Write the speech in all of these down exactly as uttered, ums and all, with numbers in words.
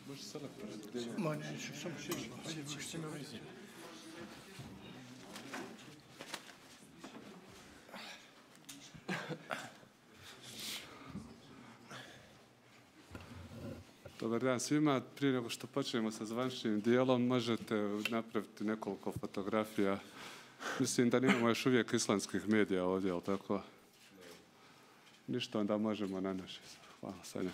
Može selektor. Ma neću, samo šećemo. Hajde, što me vezi. Dobar dan svima. Prije nego što počnemo sa zvaničnim dijelom, možete napraviti nekoliko fotografija. Mislim da nemamo još uvijek islandskih medija ovdje, ali tako? Ništa, onda možemo na naše. Hvala, Sanja.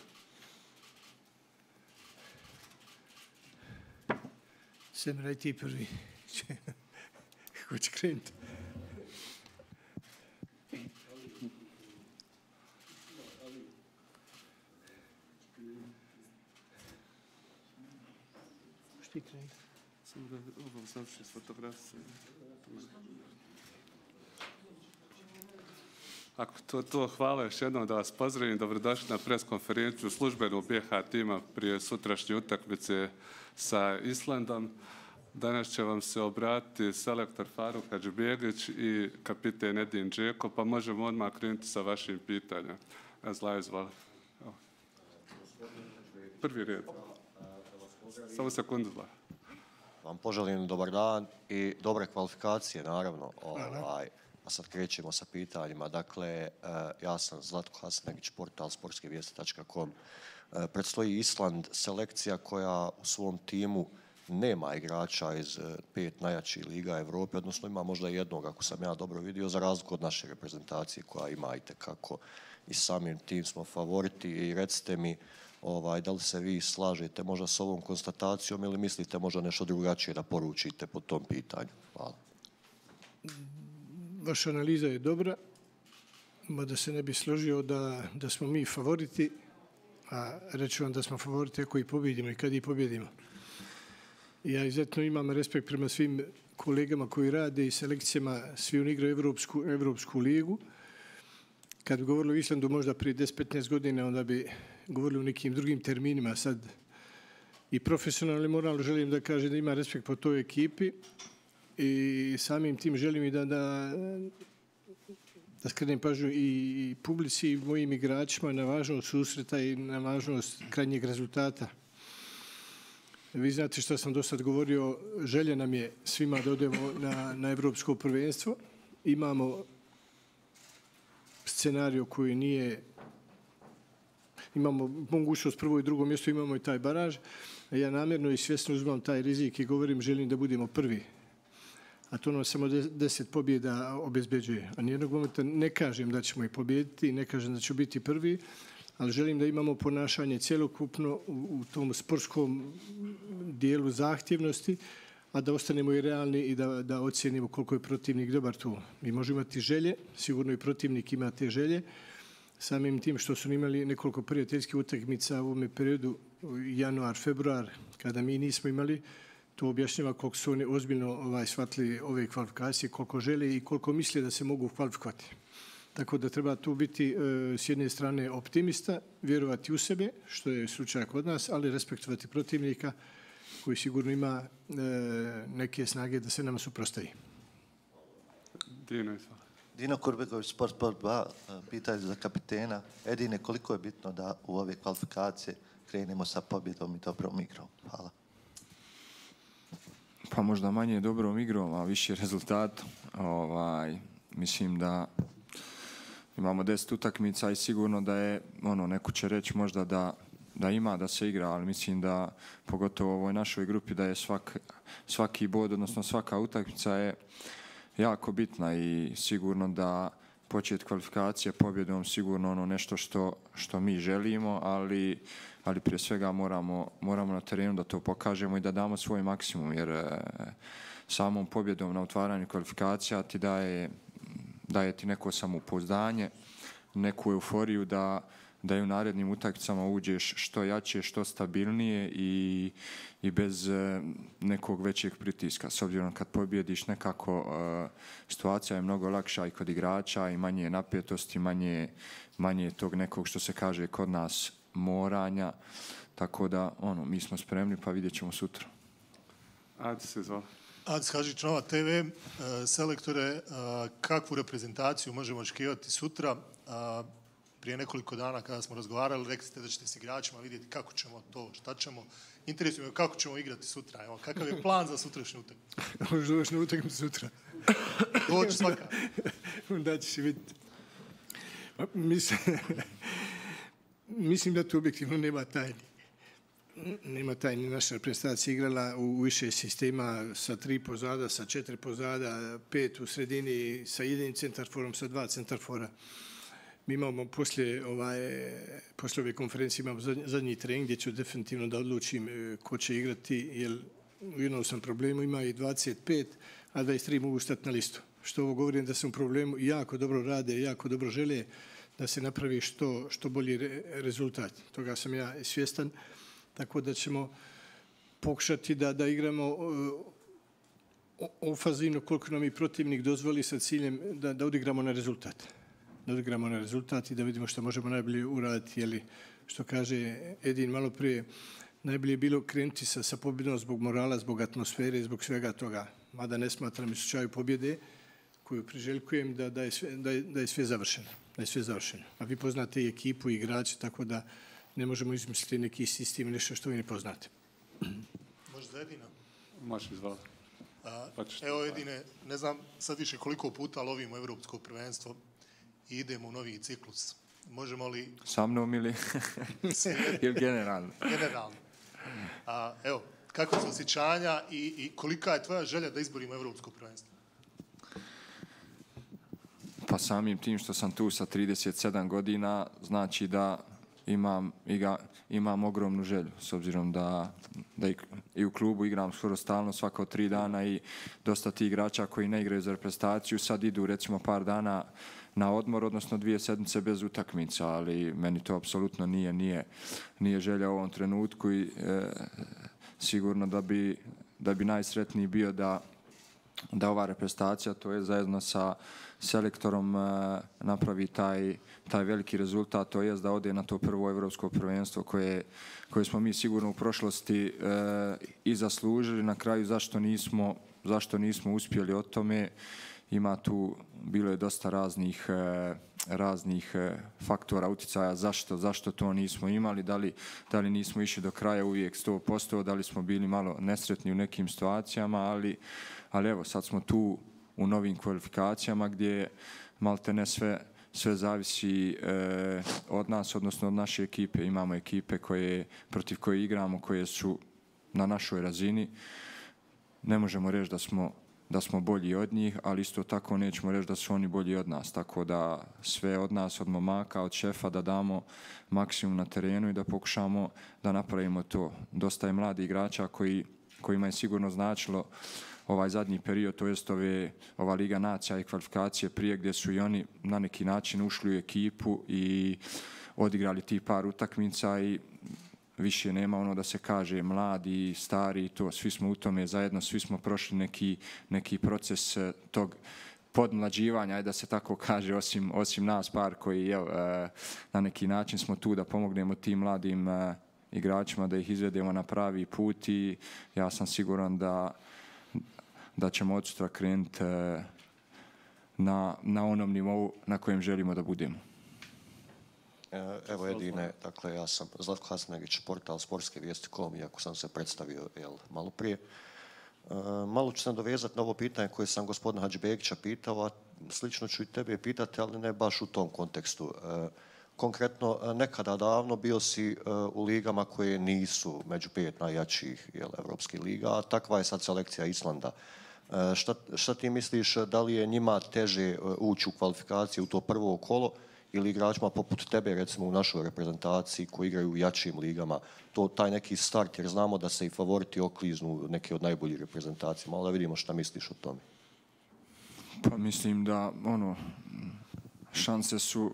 Semra i ti prvi. Kako će krenuti? Šti krenuti? Samo da ovo završi s fotografijom. Ako to, to hvala još jednom da vas pozdravim. Dobrodošli na preskonferenciju službenu B H tima prije sutrašnje utakmice sa Islandom. Danas će vam se obratiti selektor Faruk Hadžibegić i kapiten Edin Džeko, pa možemo odmah krenuti sa vašim pitanjem. Zla, izvoli. Prvi red. Samo sekundu, Zla. Vam poželim dobar dan i dobre kvalifikacije, naravno. Ovaj, a sad krećemo sa pitanjima. Dakle, ja sam Zlatko Hasanegić, portal sportske vijesti tačka com. Predstoji Island, selekcija koja u svom timu nema igrača iz pet najjačih liga Evrope, odnosno ima možda jednog, ako sam ja dobro vidio, za razliku od naše reprezentacije koja ima i tekako i samim tim smo favoriti. I recite mi, ovaj, da li se vi slažete možda s ovom konstatacijom ili mislite možda nešto drugačije da poručite po tom pitanju? Hvala. Vaša analiza je dobra, mada se ne bi složio da, da smo mi favoriti, a reću vam da smo favoriti ako i pobjedimo i kad i pobjedimo. Ja izuzetno imam respekt prema svim kolegama koji rade i selekcijama, svi oni igraju Evropsku, Evropsku ligu. Kad bi govorili o Islandu možda prije deset do petnaest godina, onda bi govorili o nekim drugim terminima. Sad i profesionalno i moralno želim da kažem da ima respekt po toj ekipi i samim tim želim i da, da, da skrenem pažnju i publici i mojim igračima na važnost susreta i na važnost krajnjeg rezultata. Vi znate što sam do sad govorio, želja nam je svima da odemo na, na evropsko prvenstvo. Imamo scenariju koji nije, imamo mogućnost prvo i drugo mjesto, imamo i taj baraž. A ja namjerno i svjesno uzmam taj rizik i govorim želim da budemo prvi. A to nam samo deset pobjeda obezbeđuje. A nijednog momenta ne kažem da ćemo i pobjediti, ne kažem da ću biti prvi, ali želim da imamo ponašanje cjelokupno u, u tom sportskom dijelu zahtjevnosti, a da ostanemo i realni i da, da ocijenimo koliko je protivnik dobar tu. Mi možemo imati želje, sigurno i protivnik ima te želje, samim tim što su imali nekoliko prijateljskih utakmica u ovom periodu, januar, februar, kada mi nismo imali, to objašnjava koliko su oni ozbiljno ovaj, shvatili ove kvalifikacije, koliko žele i koliko misle da se mogu kvalifikovati. Tako da treba tu biti e, s jedne strane optimista, vjerovati u sebe, što je slučaj kod nas, ali respektovati protivnika koji sigurno ima e, neke snage da se nama suprostavi. Dino, izvoli. Dino Kurbegović, Sport Sport dva, pitanje za kapitena. Edine, koliko je bitno da u ove kvalifikacije krenemo sa pobjedom i dobrom igrom? Hvala. Pa možda manje dobrom igrom, a više rezultatom. Ovaj, mislim da imamo deset utakmica i sigurno da je, ono, neko će reći možda da, da ima da se igra, ali mislim da, pogotovo u ovoj našoj grupi, da je svak, svaki bod, odnosno svaka utakmica je jako bitna i sigurno da počet kvalifikacije pobjedom sigurno ono nešto što, što mi želimo, ali, ali prije svega moramo, moramo na terenu da to pokažemo i da damo svoj maksimum, jer e, samom pobjedom na otvaranju kvalifikacija ti daje, daje ti neko samopouzdanje, neku euforiju da, da i u narednim utakmicama uđeš što jače, što stabilnije i, i bez e, nekog većeg pritiska. S obzirom kad pobjediš nekako e, situacija je mnogo lakša i kod igrača i manje napetosti, manje, manje tog nekog što se kaže kod nas moranja. Tako da ono, mi smo spremni pa vidjet ćemo sutra. Adi se zvala. Adis Hadžić, Nova te ve. Selektore, kakvu reprezentaciju možemo očekivati sutra? prije nekoliko dana kada smo razgovarali, rekli ste da ćete s igračima vidjeti kako ćemo to, šta ćemo. Interesuje me kako ćemo igrati sutra. Evo, kakav je plan za sutrašnju utakmicu? Možeš doći na utakmicu sutra. Doći svaka. Da ćeš vidjeti. Mislim, mislim da tu objektivno nema tajni. Nema tajni. Naša reprezentacija igrala u više sistema sa tri pozada, sa četiri pozada, pet u sredini, sa jednim centarforom, sa dva centarfora. Mi imamo poslije, ovaj, poslije ove konferencije imamo zadnji trening gdje ću definitivno da odlučim ko će igrati, jer u jednom sam problemu, ima i dvadeset pet, a dvadeset tri mogu stati na listu. Što ovo govorim da sam u problemu, jako dobro rade, jako dobro žele da se napravi što, što bolji re, rezultat. Toga sam ja svjestan, tako da ćemo pokušati da, da igramo ofazivno koliko nam i protivnik dozvoli sa ciljem da, da odigramo na rezultat. Da odigramo na rezultat i da vidimo što možemo najbolje uraditi. Jeli, što kaže Edin malo prije, najbolje je bilo krenuti sa, sa pobjedom zbog morala, zbog atmosfere, zbog svega toga. Mada ne smatram u slučaju pobjede koju priželjkujem da, da, je sve, da, je, da je sve završeno. Da je sve završeno. A vi poznate i ekipu i igrače, tako da ne možemo izmisliti neki sistem, nešto što vi ne poznate. Može za Edina? Možeš izvala. Evo Edine, ne znam sad više koliko puta lovimo evropsko prvenstvo i idemo u novi ciklus. Možemo li... Sa mnom ili... ili generalno? Generalno. A, evo, kakva su osjećanja i, i kolika je tvoja želja da izborimo evropsko prvenstvo? Pa samim tim što sam tu sa trideset sedam godina, znači da imam, iga, imam ogromnu želju, s obzirom da, da i, i u klubu igram skoro stalno, svako tri dana i dosta tih igrača koji ne igraju za reprezentaciju sad idu recimo par dana na odmor, odnosno dvije sedmice bez utakmica, ali meni to apsolutno nije, nije, nije želja u ovom trenutku i e, sigurno da bi, da bi najsretniji bio da, da ova reprezentacija, to je zajedno sa selektorom e, napravi taj, taj veliki rezultat, to je da ode na to prvo evropsko prvenstvo koje, koje smo mi sigurno u prošlosti e, i zaslužili. Na kraju zašto nismo, zašto nismo uspjeli o tome, ima tu, bilo je dosta raznih, e, raznih e, faktora uticaja zašto, zašto to nismo imali, da li, da li nismo išli do kraja uvijek sto posto, da li smo bili malo nesretni u nekim situacijama, ali, ali evo sad smo tu u novim kvalifikacijama gdje malte ne sve, sve zavisi e, od nas, odnosno od naše ekipe. Imamo ekipe koje, protiv koje igramo, koje su na našoj razini. Ne možemo reći da smo da smo bolji od njih, ali isto tako nećemo reći da su oni bolji od nas. Tako da sve od nas, od momaka, od šefa, da damo maksimum na terenu i da pokušamo da napravimo to. Dosta je mladi igrača koji, kojima je sigurno značilo ovaj zadnji period, to jest ove, ova Liga nacija i kvalifikacije prije gdje su i oni na neki način ušli u ekipu i odigrali ti par utakmica i više nema ono da se kaže mladi, stari, to, svi smo u tome zajedno, svi smo prošli neki, neki proces tog podmlađivanja, da se tako kaže, osim, osim nas par koji je, na neki način smo tu da pomognemo tim mladim igračima, da ih izvedemo na pravi put i ja sam siguran da, da ćemo od sutra krenuti na, na onom nivou na kojem želimo da budemo. Evo Edine, dakle ja sam Zlatko Hasanbegić, portal sportske vijesti точка com, iako sam se predstavio jel, malo prije. E, malo ću se dovezati na ovo pitanje koje sam gospodina Hadžibegića pitao, a slično ću i tebe pitati, ali ne baš u tom kontekstu. E, konkretno, nekada davno bio si e, u ligama koje nisu među pet najjačih jel, evropskih liga, a takva je sad selekcija Islanda. E, šta, šta ti misliš, da li je njima teže ući u kvalifikaciju u to prvo kolo, ili igračima poput tebe, recimo u našoj reprezentaciji koji igraju u jačim ligama, to taj neki start, jer znamo da se i favoriti okliznu neke od najboljih reprezentacija. Malo da vidimo šta misliš o tome. Pa mislim da ono, šanse su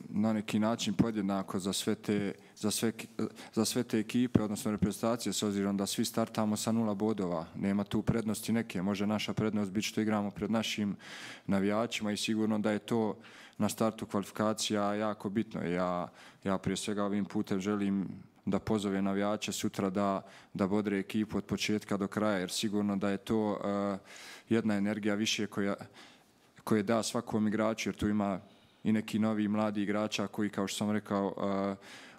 na neki način podjednako za sve te, za sve, za sve te ekipe, odnosno reprezentacije, s obzirom da svi startamo sa nula bodova. Nema tu prednosti neke. Može naša prednost biti što igramo pred našim navijačima i sigurno da je to na startu kvalifikacija jako bitno. Ja, ja prije svega ovim putem želim da pozove navijače sutra da, da bodre ekipu od početka do kraja, jer sigurno da je to uh, jedna energija više koja, koja da svakom igraču, jer tu ima i neki novi mladi igrača koji, kao što sam rekao,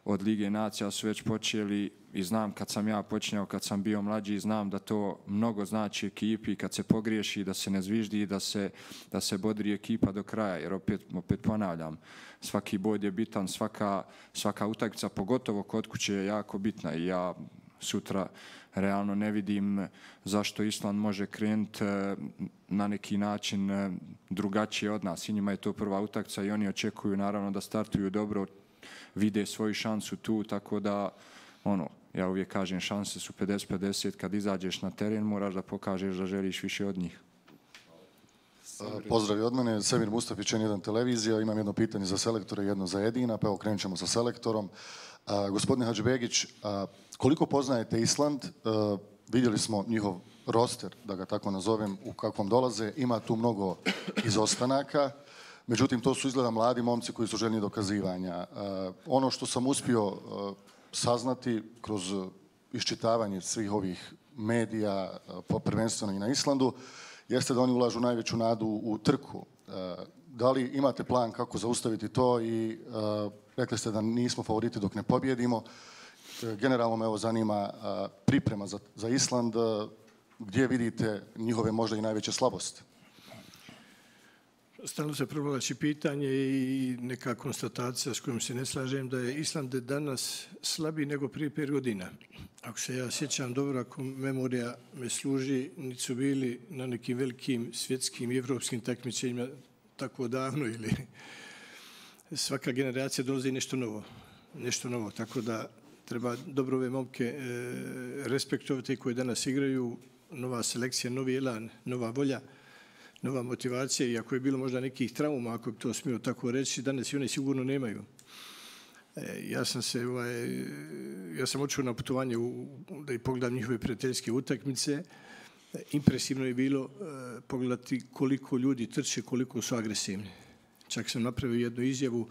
od Lige nacija su već počeli i znam kad sam ja počinjao, kad sam bio mlađi, znam da to mnogo znači ekipi, kad se pogriješi, da se ne zviždi, da se, da se bodri ekipa do kraja, jer opet, opet ponavljam, svaki bod je bitan, svaka, svaka utakmica, pogotovo kod kuće je jako bitna i ja sutra realno ne vidim zašto Island može krenuti na neki način drugačije od nas. I njima je to prva utakmica i oni očekuju naravno da startuju dobro, vide svoju šansu tu, tako da ono, ja uvijek kažem šanse su pedeset pedeset, kad izađeš na teren moraš da pokažeš da želiš više od njih. Pozdrav i od mene, Semir Mustafić, N jedan televizija. Imam jedno pitanje za selektore i jedno za Edina, pa evo krenut ćemo sa selektorom. A, gospodine Hadžibegić, a, koliko poznajete Island? A, vidjeli smo njihov roster, da ga tako nazovem, u kakvom dolaze. Ima tu mnogo izostanaka. Međutim, to su izgleda mladi momci koji su željni dokazivanja. A, ono što sam uspio a, saznati kroz iščitavanje svih ovih medija, a, prvenstveno i na Islandu, jeste da oni ulažu najveću nadu u trku. Da li imate plan kako zaustaviti to i rekli ste da nismo favoriti dok ne pobjedimo. Generalno me ovo zanima priprema za, za Island. Gdje vidite njihove možda i najveće slabosti? Stalno se provlači pitanje i neka konstatacija s kojom se ne slažem da je Island danas slabiji nego prije pet godina. Ako se ja sjećam dobro, ako memorija me služi, niti su bili na nekim velikim svjetskim i evropskim takmičenjima tako davno ili svaka generacija dolazi nešto novo. Nešto novo, tako da treba dobro ove momke e, respektovati koje danas igraju, nova selekcija, novi elan, nova volja, nova motivacija i ako je bilo možda nekih trauma, ako bi to smio tako reći, danas i one sigurno nemaju. E, ja sam se, ovaj, ja sam očeo na putovanje u, da i pogledam njihove prijateljske utakmice. E, impresivno je bilo e, pogledati koliko ljudi trče, koliko su agresivni. Čak sam napravio jednu izjavu,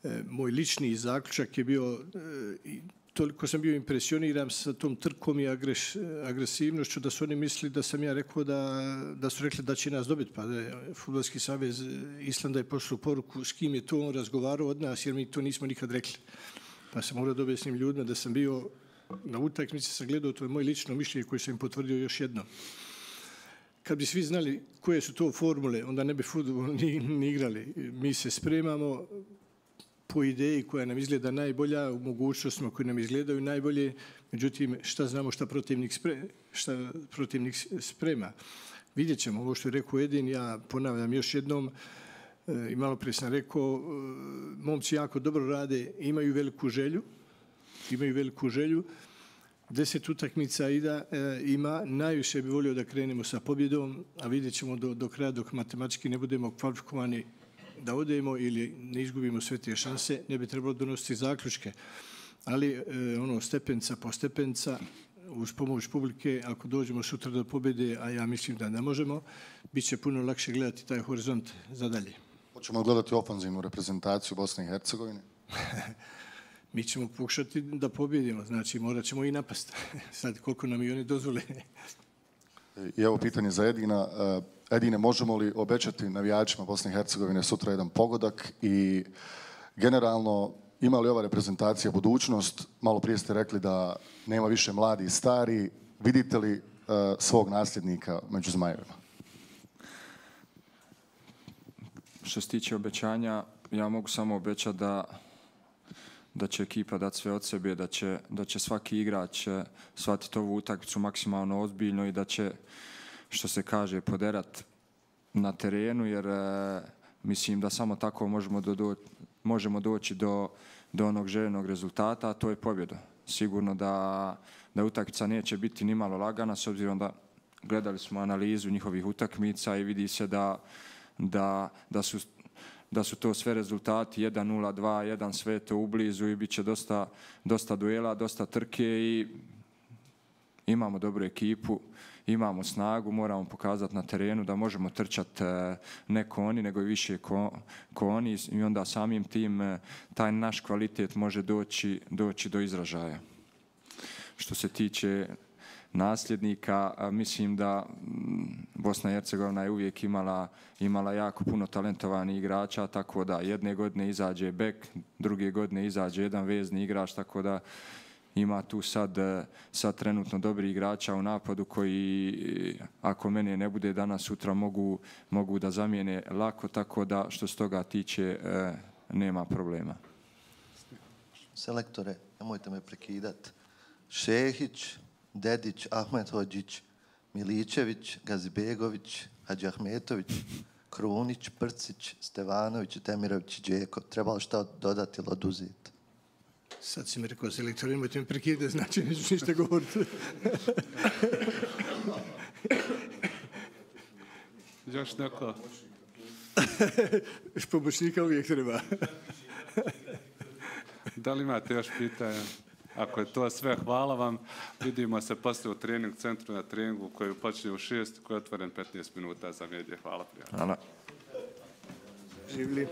e, moj lični zaključak je bio e, toliko sam bio impresioniran sa tom trkom i agres, agresivnošću da su oni mislili da sam ja rekao da, da su rekli da će nas dobiti. Pa Fudbalski savez Islanda je poslao poruku s kim je to on razgovarao od nas jer mi to nismo nikad rekli. Pa sam morao da objasnim ljudima da sam bio na utakmici, sam gledao, to je moje lično mišljenje koje sam im potvrdio još jedno. Kad bi svi znali koje su to formule, onda ne bi fudbal ni, ni igrali. Mi se spremamo po ideji koja nam izgleda najbolja, u mogućnostima koje nam izgledaju najbolje, međutim, šta znamo šta protivnik, spre, šta protivnik sprema. Vidjet ćemo ovo što je rekao Edin, ja ponavljam još jednom, i malo prije sam rekao, momci jako dobro rade, imaju veliku želju, imaju veliku želju, deset utakmica ida, e, ima, najviše bi volio da krenemo sa pobjedom, a vidjet ćemo do, do kraja dok matematički ne budemo kvalifikovani da odemo ili ne izgubimo sve te šanse, ne bi trebalo donositi zaključke. Ali e, ono stepenca po stepenca, uz pomoć publike, ako dođemo sutra do pobjede, a ja mislim da ne možemo, bit će puno lakše gledati taj horizont za dalje. Hoćemo gledati ofanzivnu reprezentaciju Bosne i Hercegovine? Mi ćemo pokušati da pobjedimo, znači morat ćemo i napast. Sad koliko nam i oni dozvole. I evo pitanje za Edina. Edine, možemo li obećati navijačima Bosne i Hercegovine sutra jedan pogodak i generalno ima li ova reprezentacija budućnost? Malo prije ste rekli da nema više mladi i stari. Vidite li uh, svog nasljednika među Zmajevima? Što se tiče obećanja, ja mogu samo obećati da da će ekipa dati sve od sebe, da će, da će svaki igrač shvatiti ovu utakmicu maksimalno ozbiljno i da će, što se kaže, poderat na terenu, jer e, mislim da samo tako možemo, do, do, možemo doći do, do onog željenog rezultata, a to je pobjeda. Sigurno da, da utakmica neće biti ni malo lagana, s obzirom da gledali smo analizu njihovih utakmica i vidi se da, da, da su da su to sve rezultati jedan nula, dva jedan, sve to ublizu i bit će dosta, dosta duela, dosta trke i imamo dobru ekipu, imamo snagu, moramo pokazati na terenu da možemo trčati ne ko oni, nego i više ko, ko oni i onda samim tim taj naš kvalitet može doći, doći do izražaja. Što se tiče nasljednika. Mislim da Bosna i Hercegovina je uvijek imala, imala jako puno talentovanih igrača, tako da jedne godine izađe bek, druge godine izađe jedan vezni igrač, tako da ima tu sad, sad trenutno dobri igrača u napadu koji, ako mene ne bude danas, sutra mogu, mogu da zamijene lako, tako da što se toga tiče nema problema. Selektore, nemojte me prekidat. Šehić, Dedić, Ahmet Hođić, Miličević, Gazibegović, Hadži Ahmetović, Krunić, Prcić, Stevanović, Temirović i Đeko. Treba li šta dodati ili oduzeti? Sad si mi rekao, selektor, nemojte mi prekidati, znači neću ništa govoriti. Još neko? Pomoćnika uvijek treba. Da li imate još pitanja? Ako je to sve, hvala vam. Vidimo se poslije u trening centru na treningu koji počinje u šest, koji je otvoren petnaest minuta za medije. Hvala prijatelji. Hvala. Živli.